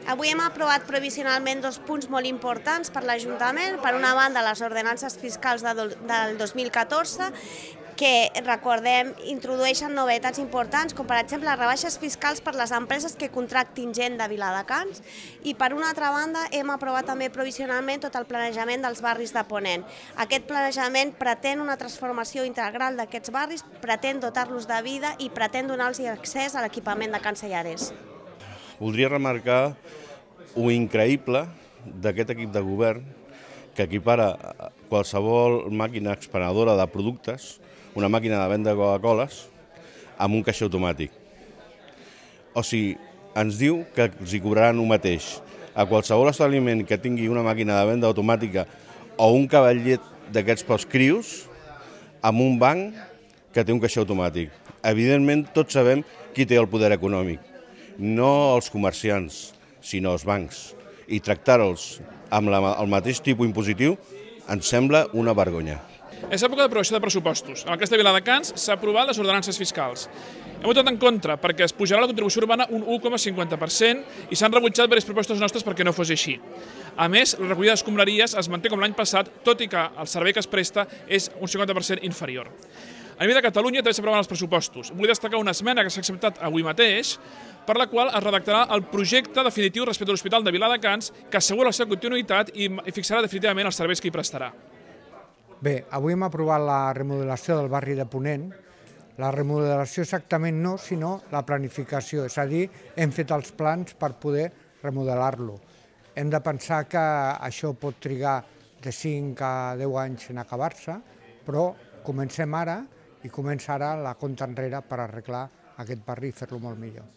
Avui hem aprovat provisionalment dos punts molt importants per l'Ajuntament. Per una banda, les ordenances fiscals del 2014, que, recordem, introdueixen novetats importants, com per exemple les rebaixes fiscals per les empreses que contractin gent de Viladecans, i per una altra banda hem aprovat també provisionalment tot el planejament dels barris de Ponent. Aquest planejament pretén una transformació integral d'aquests barris, pretén dotar-los de vida i pretén donar-los accés a l'equipament de Can Sellarès. Voldria remarcar un increïble d'aquest equip de govern que equipara qualsevol màquina expenedora de productes, una màquina de venda de Coca-Coles, amb un caixer automàtic. O sigui, ens diu que els hi cobraran el mateix a qualsevol establiment que tingui una màquina de venda automàtica o un cavallet d'aquests pels crios amb un banc que té un caixer automàtic. Evidentment, tots sabem qui té el poder econòmic, no els comerciants, sinó els bancs. I tractar-los amb el mateix tipus impositiu ens sembla una vergonya. És època d'aprovació de pressupostos. En el cas de Viladecans s'ha aprovat les ordenances fiscals. Hem votat en contra perquè es pujarà la contribució urbana un 1,50% i s'han rebutjat diverses propostes nostres perquè no fos així. A més, la recollida d'escombraries es manté com l'any passat, tot i que el servei que es presta és un 50% inferior. A nivell de Catalunya també s'aproven els pressupostos. Vull destacar una esmena que s'ha acceptat avui mateix, per la qual es redactarà el projecte definitiu respecte a l'Hospital de Viladecans, que assegura la seva continuïtat i fixarà definitivament els serveis que hi prestarà. Bé, avui hem aprovat la remodelació del barri de Ponent. La remodelació exactament no, sinó la planificació, és a dir, hem fet els plans per poder remodelar-lo. Hem de pensar que això pot trigar de 5 a 10 anys en acabar-se, però comencem ara i comença ara la compta enrere per arreglar aquest barri i fer-lo molt millor.